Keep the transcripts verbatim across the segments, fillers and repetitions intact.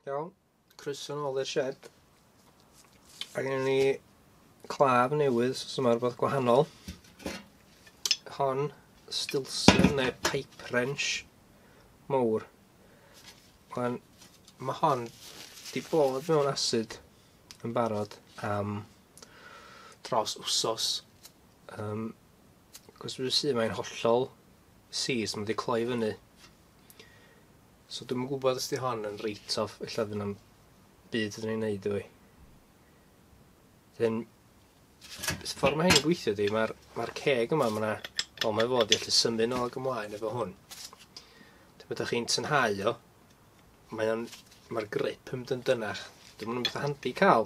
Iawn, croeso nôl i'r shed. A gennym ni claf newydd, so yma rhywbeth gwahanol. Hon, Stilson neu pipe wrench mowr. Wan, mae hon di bod mewn acid yn barod am dros wsos. Um, Cos dwi'n sydd mae'n hollol seized, mae wedi cloi fyny. So dwi'm yn gwybod os di hon yn write-off, ella fydd na'm byd ydyn ni'n neud efo hi. Dyn, ffordd mae hyn yn gweithio di, mae'r mae'r ceg yma, mae 'na, wel mae fod i allu symud nôl ag ymlaen efo hwn. Dyn, pan ydych chi'n tynhau o, mae o'n, mae'r grip yn mynd yn dynach. Dwi'n mynd beth handi cael.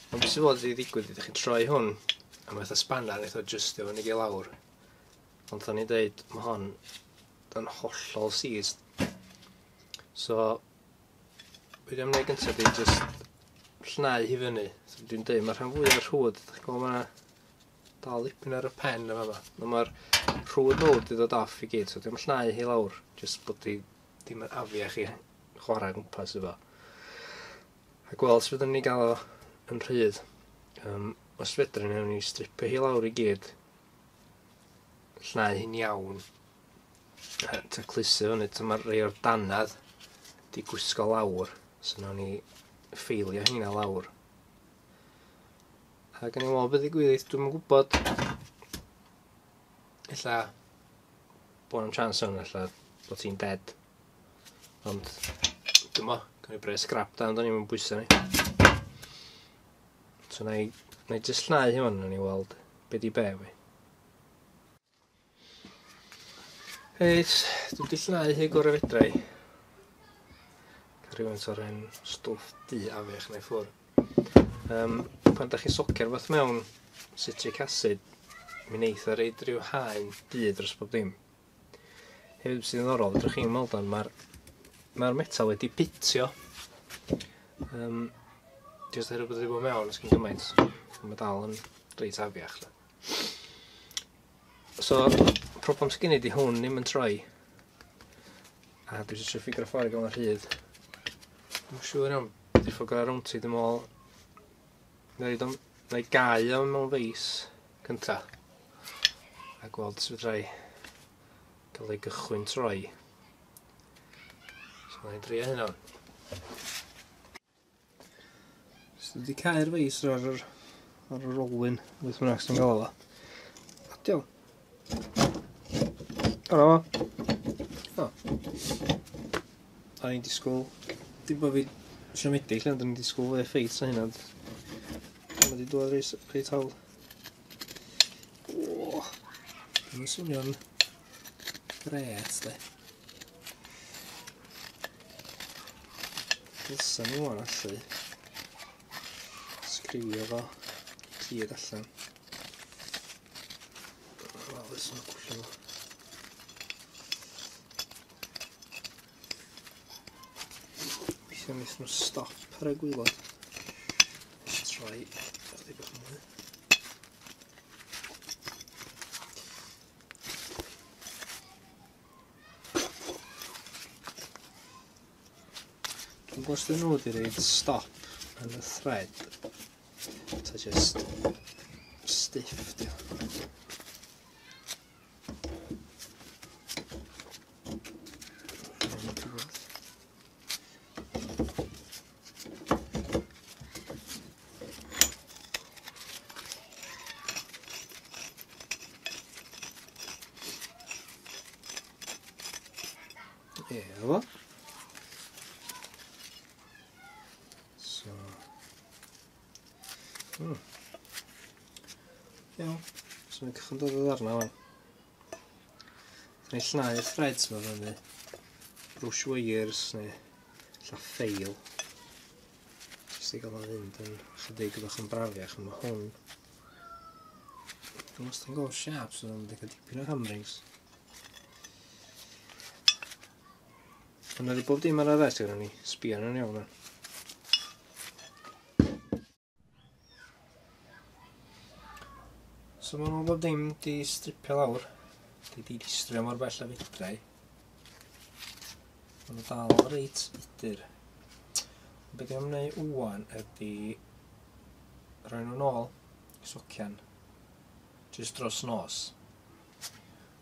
Ond beth sydd fod i ddigwydd, ydych chi'n troi hwn, a mae fatha spanner eitha adjustio fyny i lawr. Ond da ni'n deud, mae hon yn hollol seized. So, be dwi'n gwneud gyntaf di just llnau hi fyny. So, dwi'n deud, mae'r rhan fwyaf o'r rhwyd, ydych chi'n gweld mae dal dipyn ar y pen yma yma. Mae'r rhwyd mawr di ddod off i gyd, so dwi'n llnau hi lawr, just bod di ddim yn afiach i chwarae gwmpas efo. A gweld os fyddwn ni gael o yn rhydd. Um, os fedrwn ni, ni stripio hi lawr i gyd, llnau hi'n iawn, taclusu fyny, mae'r rhai o'r dannadd di gwisgo lawr, so nawn ni ffeilio heina lawr. A gan i weld beth ddigwydd, dwi'm yn gwybod. Ella bod na'm chance hwn, ella bod ti'n dead. Ond dwi'm bo, gawn ni bres scrap da, ond o'n i'm yn bwysa ni. So na i, na i jyst llnau hwn, nawn ni weld be di be fi. Reit, dwi wedi llnau hi gorau fedra i. Cael rhywfaint o'r hen stwff du afiach neu ffwrdd. Um, pan da chi'n socio'r fath mewn citric acid, mi neith o reid rhyw haen du dros bob dim. Hefyd sydd yn ddiddorol, fedrwch chi'n weld o'n, mae'r mae'r metal wedi pitio. Um, Jyst oherwydd bod wedi bod mewn ers cyn gymaint, mae dal yn reit afiach. So, problem sydd gen i di hwn ddim yn troi. A dwi eisiau ffigur ffordd i gael yn rhydd. Dwi'n siŵr iawn, di'r ffordd gorau rownd ti, dwi'n meddwl. Na i gau o mewn feis cynta. A gweld sut fedra i gael ei gychwyn troi. So na i drio hynna. So dwi wedi cau'r feis ar yr, ar yr olwyn, beth bynnag sy'n gael o. Adio. O na fo. O. O'n i'n disgwyl, dim bod fi siomedig, ond o'n i'n disgwyl fwy o ffeit na hynna. Mae wedi dod reit, reit hawdd. O, mae'n swnio'n gret, de. Dylsa ni ŵan allu sgriwio fo gyd allan. Wel, ys nhw'n gwllio fo. Weithiau wnaethon nhw stop ar y gwaelod. Troi ychydig bach mwy. Dwi'n gwybod os dyn nhw wedi rhoid stop yn y thread, ta just stiff di o. Efo. So. Hmm. Iawn. So mae'n cychwyn dod o ddarna wan. Ni'n llnau'r threads ma fyny. Brush wires neu ella ffail. Jyst i gael o'n fynd yn chydig bach yn brafiach. Mae hwn. Dwi'n wastad yn gweld siâp, so dwi'n cael dipyn o hamrings. Ond oedd bob dim ar y ddesg gyda ni, sbio arno'n iawn. So maen nhw bob dim di stripio lawr, di di distrio mor bell a fedra i. Maen nhw dal reit udur. Be dwi'n am wneud ŵan ydy rhoi nhw'n ôl i socian jyst dros nos.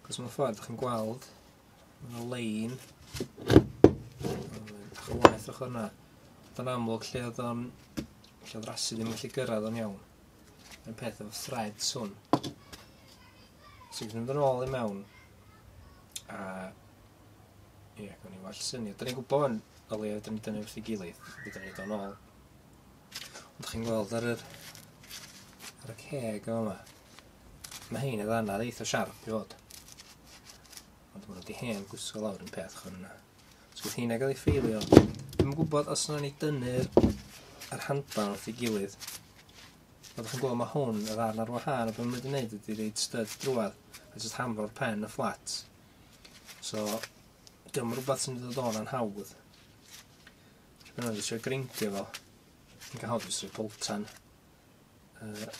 Cos mewn ffordd, ydych chi'n gweld, mae yna lein bach o waith ochr yna. Yn amlwg lle oedd o'n lle oedd rasu ddim yn gallu gyrraedd o'n iawn. Mae'n peth efo threads hwn. So dwi'n mynd yn ôl i mewn a ie, gawn ni well syniad. Da ni'n gwybod yn o leia dyn ni dynnu wrth ei gilydd, fydda ni'n dod nôl. Ond chi'n gweld ar yr ar y ceg yma, mae hein y ddannadd eitha siarp i fod. Ond maen nhw wedi hen gwisgo lawr yn peth chwn yna. So gyda heina gael ei ffeilio. Dwi'm yn gwybod os yna ni dynnu'r yr handban wrth ei gilydd. Ond chi'n gweld mae hwn y ddarn ar wahân, a beth maen nhw wedi gwneud ydy reid stud drwad a jyst hamro'r pen y fflat. So, dim rhywbeth sy'n dod o'n anhawdd. Dwi'n meddwl jyst greindio fo. Yn cael hawdd jyst rhoi boltan uh,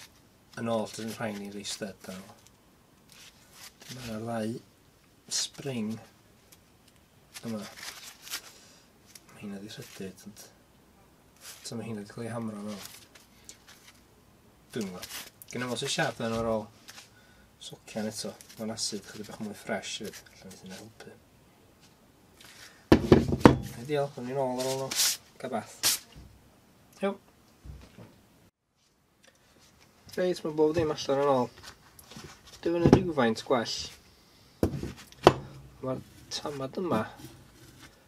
yn ôl dyn rhaid ni rei stud ar ôl. Mae'r ddau spring yma. Mae heina di rhydyd, ond so mae heina di cael ei hamro yn ôl. Dwi'n gwybod. Gynna fo sy'n siarad yn ar ôl socian eto. Mae'n acid chydig bach mwy ffres hefyd. Allan ni hynna helpu. Ideal, o'n i'n ôl ar ôl nhw. Gael bath. Iawn. Reit, mae bob dim allan yn ôl. Dwi fyny rhywfaint gwell. Mae'r tamad yma,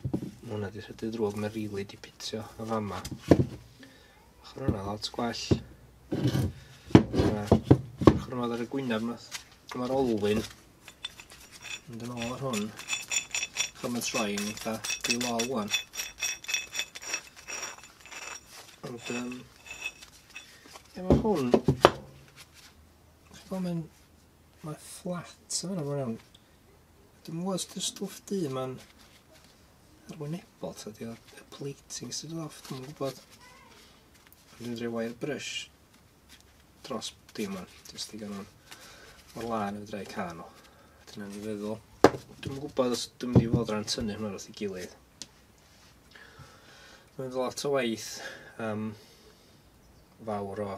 mae hwnna di rhedeg drwg, mae'n rili di pitio y fama. Ochr hwnna lot gwell. Ochr hwnna ar y gwyneb nath. Mae'r olwyn mynd yn ôl ar hwn. Chos mae'n troi'n eitha dilol ŵan. Ond, um, ie, mae hwn, chi'n gweld mae'n, mae'n fflat yma bron iawn. Dwi'm yn gwybod os di'r stwff du ma'n arwynebol, ta di o'r plating sydd off, dwi'm yn gwybod. Dwi'n rhoi wire brush dros dim o'n, jyst i gael nhw'n o'r lan i fedra i cael nhw. Dyna ni feddwl. Dwi'm yn gwybod os dwi'n mynd i fod ran tynnu hwnna wrth ei gilydd. Mae'n lot o waith um, fawr o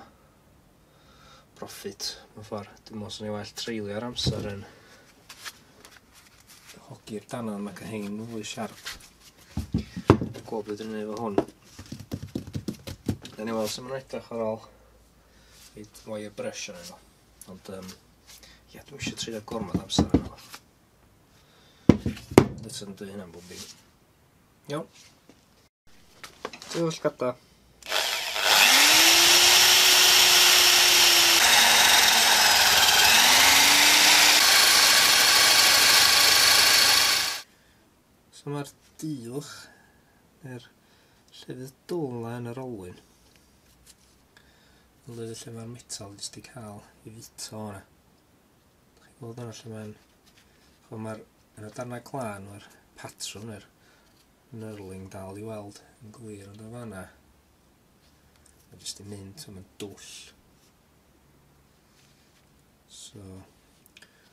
profit mewn ffordd. Dwi'n meddwl swn i well treulio'r amser yn hogi'r danan mae cael hein fwy siarp. Gweld beth dwi'n gwneud efo hwn. Nawn ni weld sut maen nhw'n edrych ar ôl i wire brush arnyn nhw. Ond um, ie, dwi'm eisiau treulio gormod amser arno fo. Eto yn dweud hynna'n bob dim. Iawn. Dwi'n llgada. So mae'r diwch, neu'r llefydd dwl na yn yr olwyn, yn lefydd lle mae'r metal jyst i cael ei fito o'na. Dach chi'n gweld yna lle mae'n, ch'mo' mae'r, yn y darnau glân, mae'r patrwm neu'r knurling dal i weld yn glir, ond yn fan'na mae jyst i mynd, so mae'n dwll. So,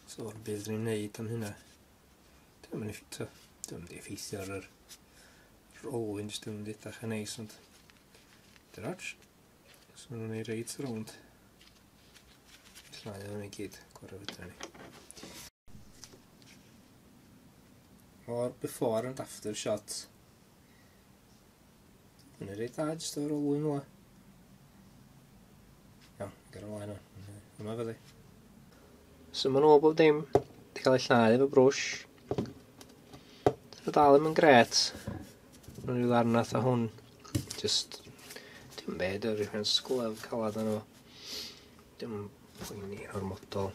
so o'r beth ni'n neud am hynna. Dwi'm yn effeithio, dwi'm yn effeithio ar yr olwyn, jyst ddim yn edrych yn neis, ond dyna ots. So maen nhw'n ei reit rownd. Llai o'n i gyd, gorau fedra ni. O'r before and after shot. Mae'n ei reit dda jyst o'r olwyn fel 'na. Iawn, ger ymlaen o'n. Yma fyddi. So ma'n ôl bob dim wedi cael ei llnau efo brwsh. Dyn nhw dal ddim yn grêt. Mae'n rhyw ddarn fatha hwn. Just, dim byd, yr rhywun sglef calad arno fo. Dim yn poeni ormodol.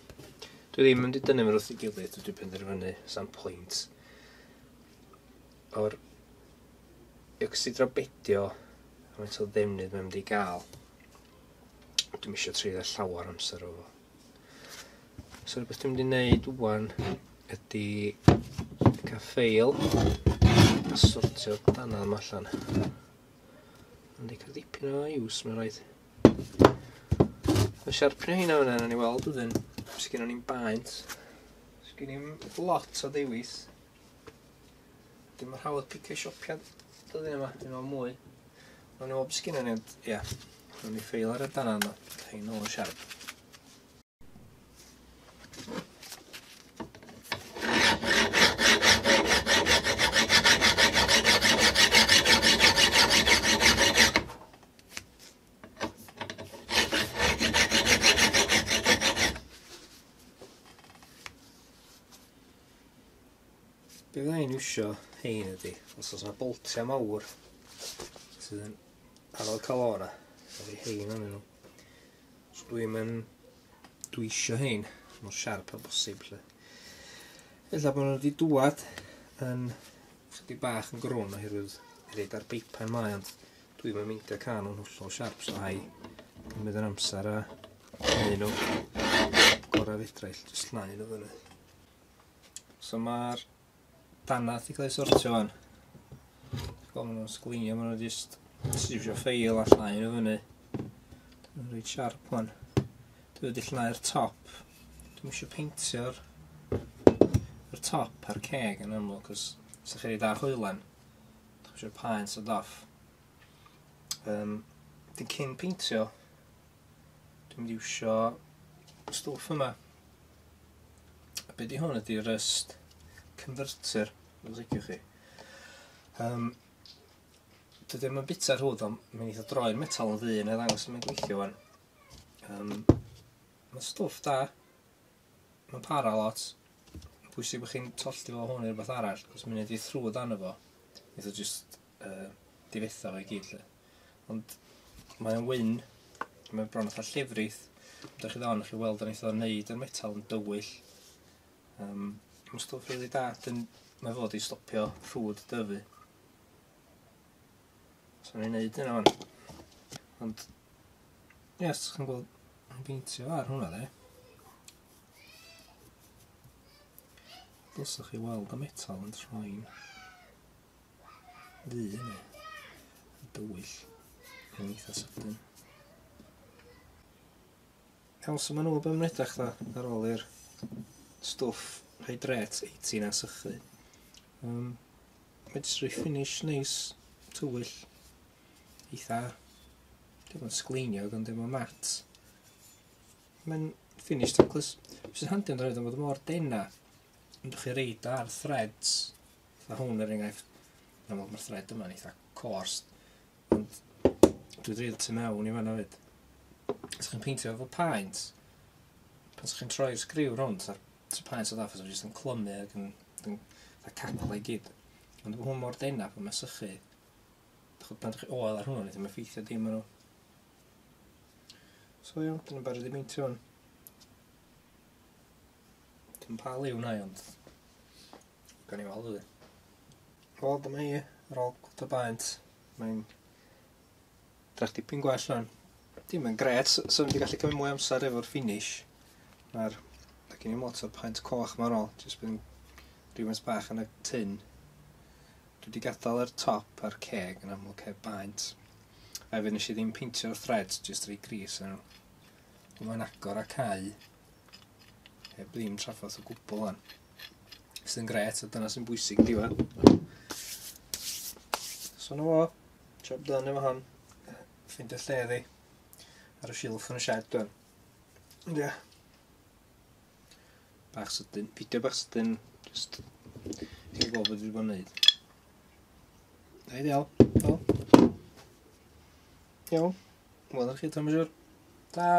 Dwi ddim yn mynd i dynnu fe wrth ei gilydd, dwi wedi penderfynu, sam pwynt. O'r ocsidrabedio, faint o ddefnydd mae'n mynd i gael. Dwi'm eisiau treulio llawer amser o fo. So rhywbeth dwi'n mynd i wneud ŵan ydy cael ffeil a sortio'r dannadd yma allan. Mae'n wedi cael dipyn o use, mae'n rhaid. Mae siarpnio heina fyna, nawn ni weld wedyn. Sgynnon ni'm baent. Sgyn ni'm lot o ddewis. Dim yn hawdd picio siopiad dyddiau yma, dwi'n meddwl mwy. Mae'n meddwl beth sgynnon ni, ond ia, rhawn ni ffeil ar y danna yma, rhaid nôl yn siarp. Be fydda i'n iwsio hein ydi, os oes yna boltiau mawr sydd yn anodd cael o 'na, ydi hein arnyn nhw. So dwi'n mynd, dwi isio hein mor siarp a bosib lle. Ella bod nhw wedi dŵad yn chydig bach yn grwn oherwydd reid ar beipan mae, ond dwi'n mynd meindio cael nhw'n hollol siarp, so hai cymryd yr amser a gwneud nhw gorau fedra i, jyst llnau nhw fyny. So mae'r danath i cael ei sortio fan. Gweld maen nhw'n sglinio, maen nhw jyst iwsio ffeil a llnau nhw fyny. Dwi'n reit siarp wan. Dwi wedi llnau'r top. Dwi'm isio peintio'r yr top a'r ceg yn amlwg, cos os ydych chi'n rhaid ar hoelan, ydych chi eisiau'r paent o off. Um, dyn cyn peintio, dwi'n mynd i iwsio stwff yma. A be di hwn ydi rust converter, os liciwch chi. Um, dydy o'm yn bita'r rhwyd, ond mae'n eitha droi'r metal yn ddu neu ddangos yn gweithio wan. Um, mae'n stwff da, mae'n para lot. Pwysig bod chi'n tollti fo hwn i rhywbeth arall, cos mae'n neud i thrwyd arno fo. Neith o jyst uh, difetha fo i gyd lle. Ond mae'n wyn, mae'n bron fatha llefrith. Dych chi dda, chi weld yn eitha neud yr metal yn dywyll. Um, Mae'n stwff rili da, dyn mae fod i stopio rhwyd dyfu. So ni'n neud yna wan. Ond, ie, os chi'n gweld, yn peintio ar hwnna de. Dylsach chi weld y metal yn troi'n ddu yna. Yn dywyll. Yn eitha sydyn. Iawn, so maen nhw be maen edrych dda ar ôl i'r stwff Hydrate eighteen a sychu. Um, mae jyst rhoi finish neis, tywyll, eitha, dim ond sgleiniog ond dim ond mat. Mae'n finish taclus. Sy'n handi ond roedd yn bod mor dena, ond chi reid ar threads, fatha hwn er enghraifft, yn amlwg mae'r thread yma'n eitha coarse, ond dwi'n reid tu mewn i fan'na fyd. Os chi'n peintio efo paent, pan chi'n troi'r sgriw rownd, a'r paent o ddaff, jyst yn clymu ac yn, yn, yn cacla i gyd. Ond hwn mor dena pan mae'n sychu, pan ydych chi oel ar hwnnw, ddim effeithio dim ar nhw. So iawn, dyna'n barod i beintio hwn. Dim pa liw na i, ond gawn ni weld ydy. Wel, dyma hi, ar ôl cwt o baent, mae'n drach dipyn gwell rwan. Dim yn gret, so wedi gallu cymryd mwy o amser efo'r finish. Mae'r gen i'n lot o'r paent coch ma'n ôl, jyst bydd rhywfaint bach yn y tin. Dwi wedi gadael yr top a'r ceg yn amlwg heb baent. A hefyd nes i ddim peintio'r threads, jyst rhoi gris yn nhw. Mae'n agor a cau heb ddim trafferth o gwbl wan. Sydd yn gret, a dyna sy'n bwysig yn diwedd. So na fo, job done efo hon. Ffeindio lle iddi ar y silff yn y shed dwan. Ond ia. Bach sydyn, fideo bach sydyn, jyst i gweld beth dwi wedi bod yn neud. Ideal, wel. Iawn, wel ar chi, Tom, siŵr. Ta!